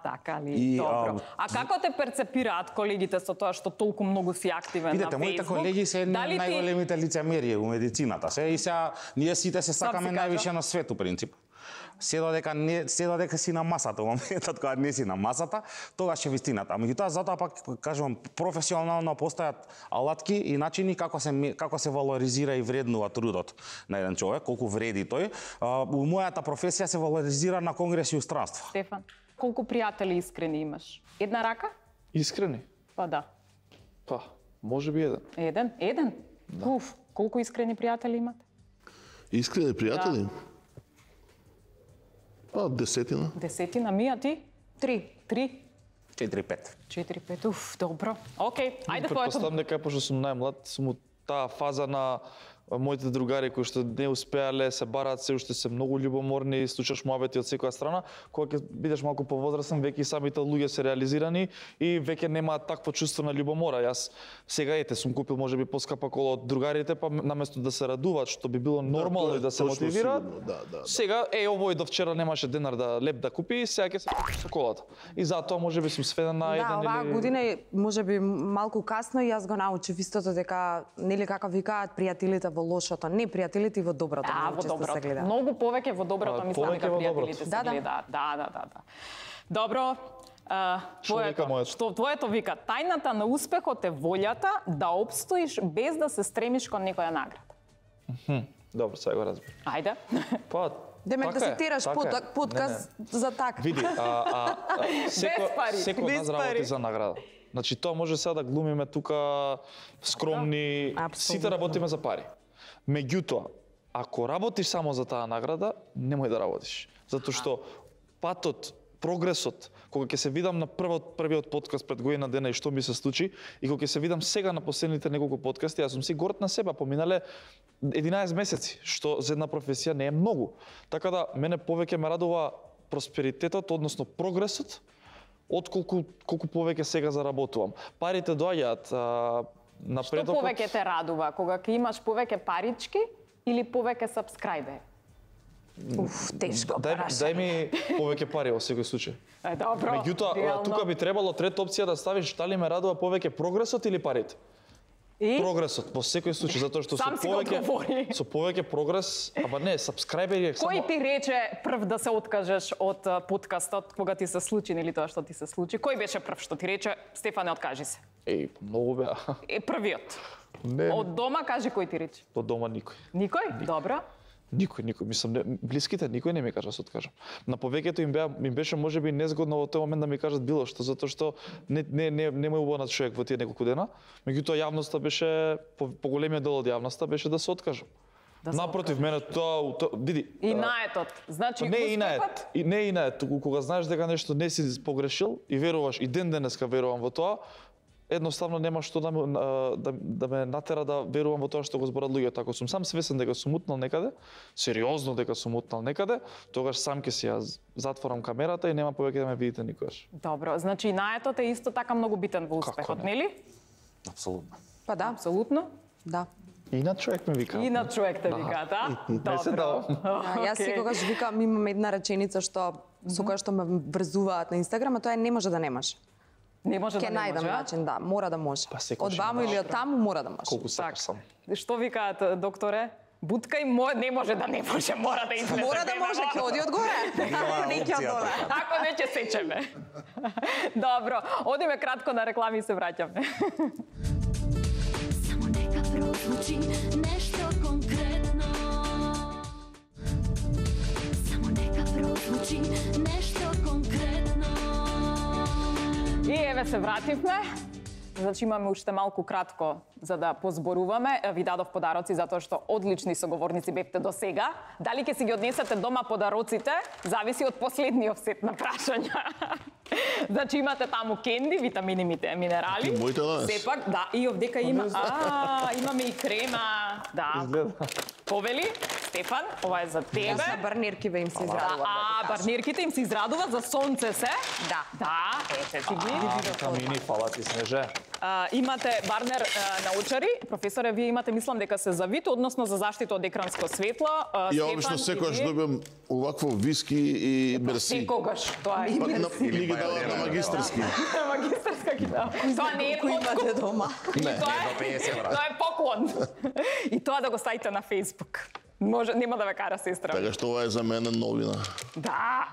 Така ли? И, Добро. А како те перцепираат колегите со тоа што толку многу си активен Видете, на моите Facebook? колеги се Дали ти- најголемите лицемери у медицината. Се и сега ние сите се сакаме си највише на свет у принцип. Се додека си на масата, во моментот кога не си на масата, тогаш е вистината. Меѓутоа затоа пак кажувам професионално постојат алатки и начини како се валоризира и вреднува трудот на еден човек, колку вреди тој. У мојата професија се валоризира на конгреси и устранство. Стефан, колку пријатели искрени имаш? Една рака? Искрени? Па да. Па, може би еден. Еден? Еден? Уф, колку искрени пријатели имате? Искрени пријатели? Па, десетина. Десетина, мија ти? 3. 3? 4-5. 4-5, уф, добро. Океј, ајде твоето. Претпоставам дека пошто сум најмлад, сум у таа фаза на моите другари кои што не успеале, се бараат, се уште се многу љубоморни, слушаш муабети од секоја страна, кога ќе бидеш малку повозрасен, веќе и самите луѓе се реализирани и веќе немаат такво чувство на љубомора. Јас сега сум купил можеби поскапа кола од другарите, па наместо да се радуваат, што би било нормално тоа е и да се точно мотивираат. сигурно, да. Сега овој до вчера немаше денар да леп да купи, сега ќе се купи со колата. И затоа можеби сум сведен на еден Да, оваа или година е можеби малку касно и јас го научив истото дека нели како викаат пријателите во лошото, не пријателите и во доброто, Да, многу во често се доброто. гледа. Многу повеќе во доброто, мислам повеќе дека во пријателите доброто. се Да, да. гледаат. Да. Добро, вика моето? Што твоето вика, тајната на успехот е волјата да опстоиш без да се стремиш кон некоја награда. Добро, сега го разбирам. Ајде. Па, Демек да така се е, тераш така е. подкаст за така. Види, пари, секој од без нас работи пари. за награда. Значи, тоа може сега да глумиме тука скромни, Апсолутно. сите работиме за пари. Меѓутоа, ако работиш само за таа награда, немој да работиш. Затоа што патот, прогресот, кога ќе се видам на првиот подкаст пред година дена и што ми се случи, и кога ќе се видам сега на последните неколку подкасти, јас сум си горд на себе, поминале 11 месеци, што за една професија не е многу. Така да, мене повеќе ме радува просперитетот, односно прогресот, отколку колку повеќе сега заработувам. Парите доаѓаат Што напредокот. повеќе те радува? Кога ќе имаш повеќе парички или повеќе сабскрајбери? Уф, тешко Дај ми повеќе пари во секој случај. Добро. Меѓутоа, реално. тука би требало трета опција да ставиш дали ме радува повеќе прогресот или парите. И? Прогресот во секој случај, затоа што Сам си го одговори. со повеќе прогрес, ама не, сабскрајбери е само Кој ти рече прв да се откажеш од подкастот кога ти се случи или тоа што ти се случи? Кој беше прв што ти рече Стефане откажи се? Еј, многу беа. Првиот. Не, Од дома кажи кој ти рече? од дома никој. Никој? Добро. Никој, мислам, блиските никој не ми кажа да се откажам. На повеќето им беше можеби незгодно во тој момент да ми кажат било што, затоа што не ме убава човек во тие неколку дена, меѓутоа јавноста беше поголемиот дел од јавноста беше да се откажам. Напротив, мене тоа види. И наетот. Значи Не и наед, успехот? не и наед, туку кога знаеш дека нешто не си погрешил и веруваш и ден денеска верувам во тоа, едноставно нема што да ме натера да верувам во тоа што го зборат луѓето. Ако сум сам свесен дека сум утнал некаде, сериозно дека сум утнал некаде, тогаш сам ќе си ја затворам камерата и нема повеќе да ме видите никогаш. Добро, значи наетот е исто така многу битен во успехот, не? нели? Апсолутно. Па да, Апсолутно. да. И на човек ме вика. И на човек те викаат, а? Не се давам. Јас секогаш викам, имам една реченица што со која што ме врзуваат на Инстаграм, а тоа е не може да немаш. Не може Ќе да не најдам може, а? начин, да, мора да може. Па секој Од ќе ваму може. или од таму мора да може. Колку сакаш сам. Што викаат, докторе? Будка и не може да не може, мора да излезе. Мора да може, ќе оди одгоре. Не ќе од доле. Ако не ќе сечеме. Добро, одиме кратко на реклами и се враќаме. Само нека прозвучи нешто конкретно. Само нека прозвучи нешто конкретно. И еве се вративме. Значи имаме уште малку кратко за да позборуваме. Ви дадов подароци затоа што одлични соговорници бевте до сега. Дали ќе си ги однесете дома подароците, зависи од последниот сет на прашања. Значи имате таму кенди, витамини, минерали. И моите данес. Сепак, да, и овдека има, имаме и крема. Да. Изгледа. Повели, Стефан, ова е за тебе. Јас на барниркиве им се израдувам. Барнирките им се израдуваат за сонце се. Да. Да, ете ти ги. Камини, фала ти, Снеже. Имате барнер научари, професоре, вие имате, мислам дека се за вид, односно за заштита од екранско светло. Ја обично секогаш добивам овакво виски и мерси. Секогаш, тоа е. Ни ги дават на магистерски. Магистерска ги дава. Тоа не е Кој имате подкуп. дома? Тоа е поклон. И тоа да го ставите на Facebook. Може, нема да ве кара сестра. Така што ова е за мене новина. Да.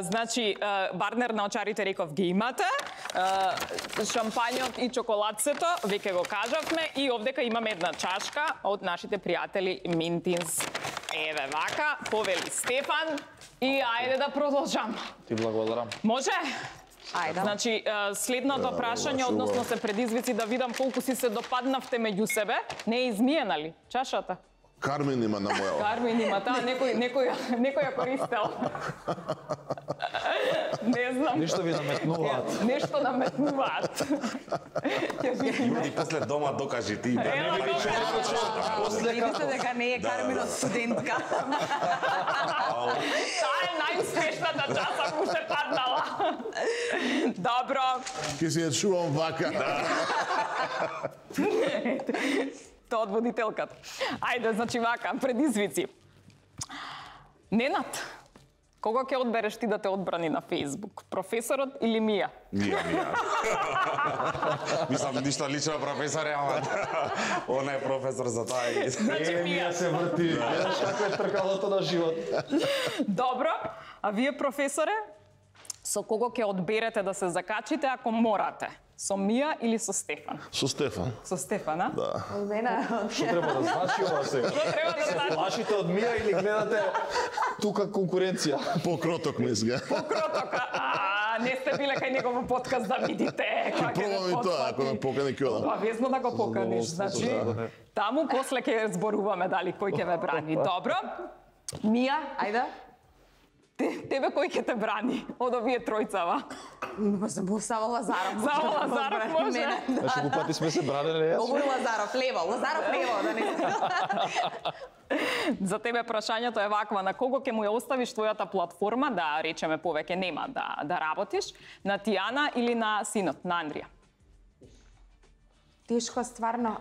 Значи, барнер на очарите реков ги имате, шампањот и чоколадцето, веќе го кажавме, и овдека имаме една чашка од нашите пријатели Мintins. Еве вака, повели Стефан, и ајде да продолжам. Ти благодарам. Може? Ајде. Значи, следното прашање, односно се предизвици да видам колку си се допаднавте меѓу себе. Не е измиена ли чашата? Кармен има на моја. Кармен има, таа некој ја користел. Не знам. Ништо ви наметнуваат. Нешто наметнуваат. Ќе видиме. И после дома докажи ти. Ева, Видите дека не е Карминот студентка. Таа е најуспешната часа му се паднала. Добро. Ке си ја чувам вака. Тоа од водителката. Ајде, значи вака, предизвици. Ненад, кого ќе одбереш ти да те одбрани на Facebook? Професорот или Мија? Мија. Мислам, ништо лично професор, ама она е професор за тоа. Значи Мија. се врти. Гледаш како е тркалото на живот. Добро, а вие професоре, со кого ќе одберете да се закачите ако морате? Со Мија или со Стефан? Со Стефан. Со Стефан, а? Да. Од мене. Што треба да значи ова сега? Треба да знаеш. Плашите од Мија или гледате тука конкуренција? Покроток мислам. Кроток, не сте биле кај негово подкаст да видите. Ќе пробам и тоа, ако ме покани ќе одам. Обавезно да го поканиш, значи таму после ќе зборуваме дали кој ќе ме брани. Добро? Мија, Ајде. тебе кој ќе те брани од овие тројцава? Само Лазаров. Само Лазаров може? Мене, Знаеш колку пати сме се бранеле јас? Овој Лазаров лево, да не. За тебе прашањето е ваква: на кого ќе му ја оставиш твојата платформа, да речеме повеќе нема да работиш, на Тијана или на синот, на Андрија? Тешко стварно.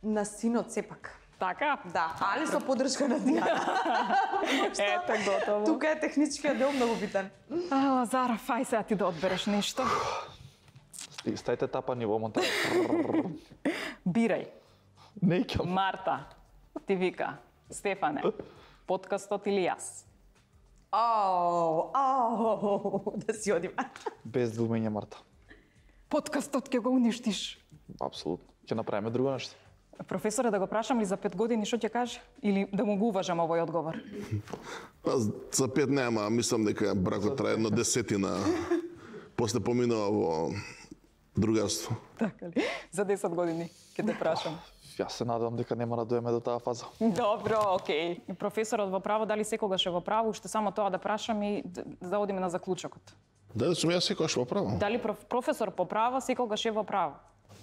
На синот сепак. Така? Да, али со поддршка на Тијана. Ете, готово. Тука е техничкиот дел многу битен. Лазаров, ај сега ти да одбереш нешто. Стајте тапани во монтаж. Бирај. Неќам. Марта ти вика: Стефане, подкастот или јас? Да си одиме. Без двумење, Марта. Подкастот ќе го уништиш. Апсолутно. Ќе направиме друго нешто. Професоре, да го прашам ли за 5 години што ќе каже? Или да му го уважам овој одговор? За 5 нема, мислам дека бракот трае едно 10-тина. После поминува во другарство. Така ли? За 10 години ќе те прашам. Јас се надевам дека нема да доеме до таа фаза. Добро, окей. Професорот во право, дали секогаш е во право? Уште само тоа да прашам и да одиме на заклучокот. Дали сум јас секогаш во право? Дали професор по право секогаш е во право?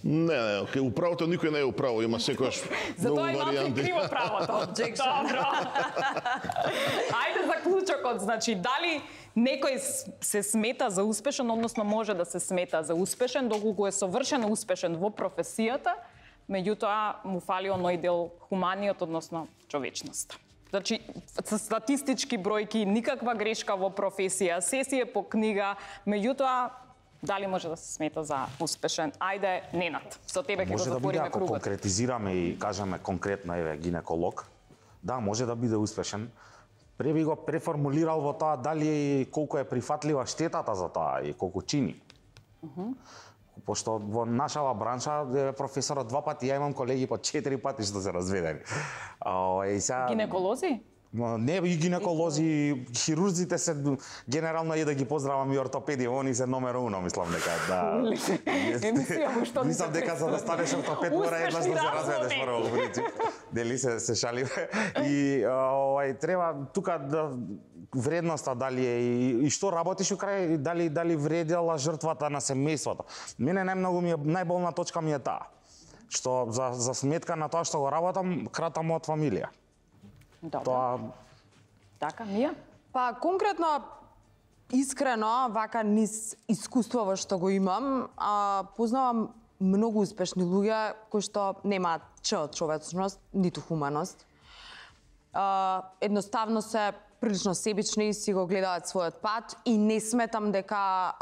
Не, у правото никој не е у право, има секогаш многу Затоа и малку варијанти. криво правото. Добро. Ајде заклучокот, значи дали некој се смета за успешен, односно може да се смета за успешен, доколку е совршено успешен во професијата, меѓутоа му фали оној дел хуманиот, односно човечноста. Значи, статистички бројки, никаква грешка во професија, се си е по книга, меѓутоа дали може да се смета за успешен? Ајде, Ненад, со тебе ќе го Може да биде, затвориме ако кругот. конкретизираме и кажеме конкретно, еве, гинеколог, да, може да биде успешен. Пре би го преформулирал во тоа дали колку е прифатлива штетата за тоа и колку чини. Пошто во нашава бранша професорот 2 пати, ја имам колеги по 4 пати што се разведени. И сега Гинеколози? Не, и гинеколози, хирурзите се генерално и да ги поздравам и ортопеди, они се номер 1, мислам дека да. Емисија во што Мислам дека за да станеш ортопед мора еднаш да се разведеш прво во принцип. Дели се шаливе. И треба тука да вредноста дали е и што работиш у крај, дали вредела жртвата на семејството. Мене најболна точка ми е таа, што за сметка на тоа што го работам, кратам од фамилија. Добро. Тоа Така, Мија? Па конкретно, искрено, вака низ искуство што го имам, познавам многу успешни луѓе кои што немаат од човечност, ниту хуманост. Едноставно се прилично себични и си го гледаат својот пат и не сметам дека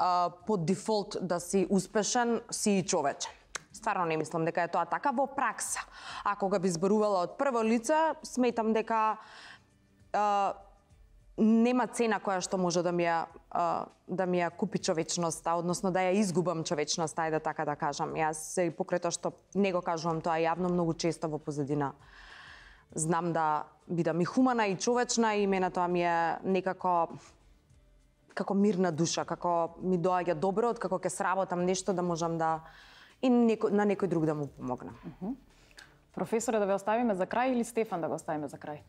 по дефолт да си успешен, си и човечен. Стварно не мислам дека е тоа така во пракса. Ако го би зборувала од прво лице, сметам дека нема цена која што може да ми ја купи човечноста, односно да ја изгубам човечноста, ајде така да кажам. Јас и покрај тоа што не го кажувам тоа јавно, многу често во позадина знам да бидам и хумана и човечна и мене тоа ми е некако како мирна душа, како ми доаѓа добро, од како ќе сработам нешто да можам да и на некој друг да му помогнам. Професоре, да ве оставиме за крај или Стефан да го оставиме за крај?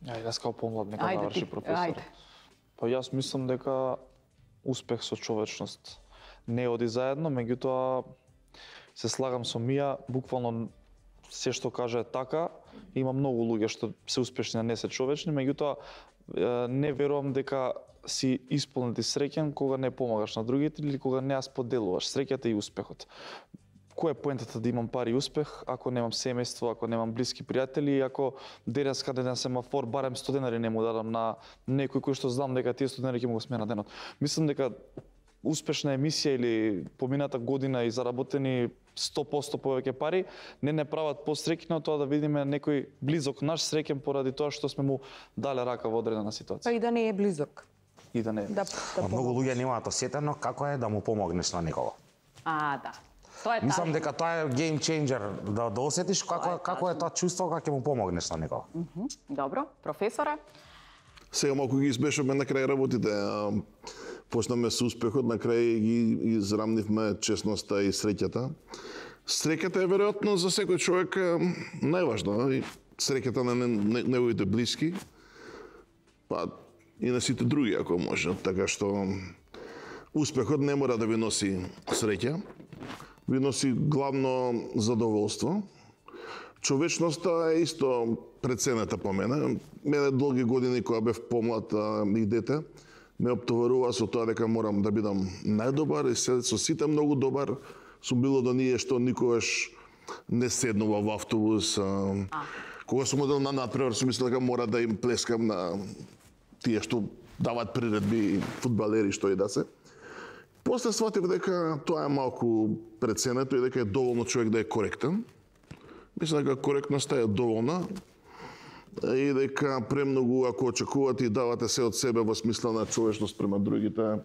Ајде, јас као помлад нека Ајде наврши ти, професор. ајде. Па јас мислам дека успех со човечност не оди заедно, меѓутоа се слагам со Мија, буквално се што каже е така, има многу луѓе што се успешни, а не се човечни, меѓутоа не верувам дека си исполнет и среќен кога не помагаш на другите или кога не ја споделуваш среќата и успехот. Која е поентата да имам пари и успех ако немам семејство, ако немам блиски пријатели и ако денес каде на семафор барем 100 денари не му дадам на некој кој што знам дека тие 100 денари ќе му го смена денот. Мислам дека успешна емисија или помината година и заработени 100% повеќе пари не прават посреќни од тоа да видиме некој близок наш среќен поради тоа што сме му дале рака во одредена ситуација. Па и да не е близок. и да не. Многу луѓе немаат осетено како е да му помогнеш на некого. Да. Тоа е Мислам дека тоа е game changer, да осетиш како е тоа чувство кога ќе му помогнеш на некого. Добро, професоре? Сега малку ги избешаме на крај работите. Почнаме со успехот, на крај ги израмнивме честноста и среќата. Среќата е веројатно за секој човек најважна. Среќата на неговите блиски, па и на сите други ако може. Така што успехот не мора да ви носи среќа, ви носи главно задоволство. Човечноста е исто преценета по мене. Мене долги години кога бев помлад и дете, ме оптоварува со тоа дека морам да бидам најдобар и со сите многу добар сум било до ние што никогаш не седнува во автобус. Кога сум одел на надпревар, сум мислел дека мора да им плескам на тие што дават приредби, фудбалери, што и да се. После сватив дека тоа е малку преценето и дека е доволно човек да е коректен. Мислам дека коректноста е доволна и дека премногу ако очекувате и давате се од себе во смисла на човечност према другите,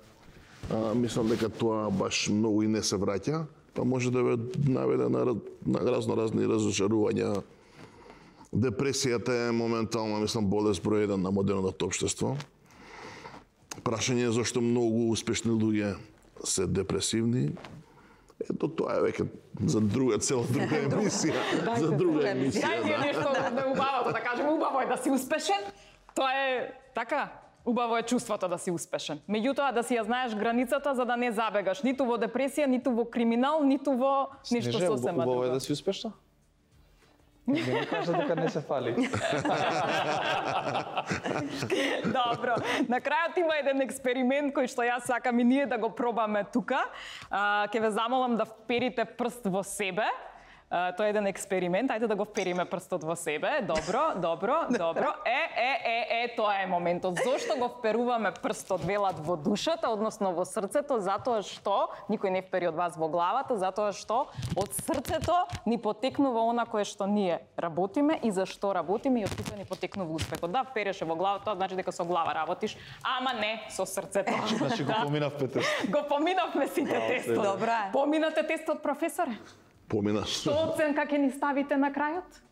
мислам дека тоа баш многу и не се враќа, па може да ве наведе на разни разочарувања. Депресијата е моментално, мислам, болест број 1 на модерното општество. Прашање е зашто многу успешни луѓе се депресивни. Ето тоа е веќе за друга емисија. За друга емисија. Дајте нешто убавото, да кажеме, убаво е да си успешен. Тоа е така. Убаво е чувството да си успешен. Меѓутоа да си ја знаеш границата за да не забегаш ниту во депресија, ниту во криминал, ниту во ништо сосема друго. Убаво е да си успешна? Не ми кажа дека не се фали. Добро. На крајот има еден експеримент кој што јас сакам и ние да го пробаме тука. Ќе ве замолам да вперите прст во себе. Тоа е еден експеримент. Ајде да го впериме прстот во себе. Добро. Тоа е моментот. Зошто го вперуваме прстот, велат, во душата, односно во срцето? Затоа што никој не впери од вас во главата, затоа што од срцето ни потекнува она кое што ние работиме и за што работиме и од тука ни потекнува успехот. Да, впереше во главата, тоа значи дека со глава работиш, ама не со срцето. Значи го поминавме тестот. Го поминавме сите тестот. Добра. Поминате тестот, професоре? Помина. Што оценка ќе ни ставите на крајот?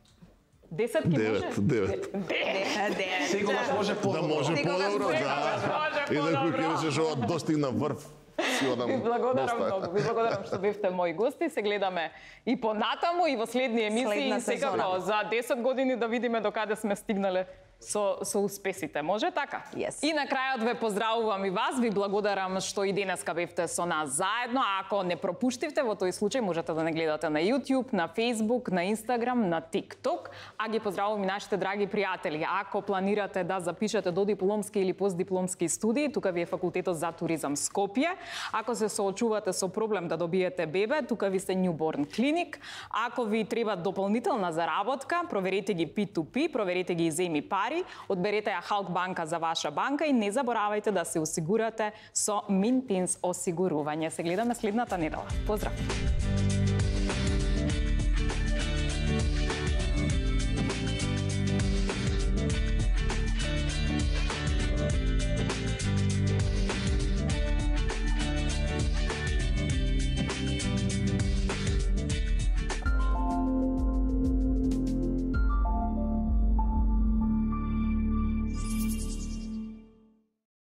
10 ќе може? 9. Секогаш може Да може подобро, да. И некој ќе речеш ова достигна врв. Ви благодарам многу. Ви благодарам што бевте мои гости. Се гледаме и понатаму и во следни емисии и секако за 10 години да видиме докаде сме стигнале со успесите. Може така? Yes. И на крајот ве поздравувам и вас, ви благодарам што и денеска бевте со нас заедно. А ако не пропуштивте, во тој случај можете да не гледате на YouTube, на Facebook, на Instagram, на TikTok. А ги поздравувам и нашите драги пријатели. Ако планирате да запишете до дипломски или постдипломски студии, тука ви е факултетот за туризам Скопје. Ако се соочувате со проблем да добиете бебе, тука ви се Newborn Clinic. Ако ви треба дополнителна заработка, проверете ги P2P, проверете ги Земи Пари, одберете ја Халк банка за ваша банка и не заборавајте да се осигурате со Mintins осигурување. Се гледаме следната недела. Поздрав!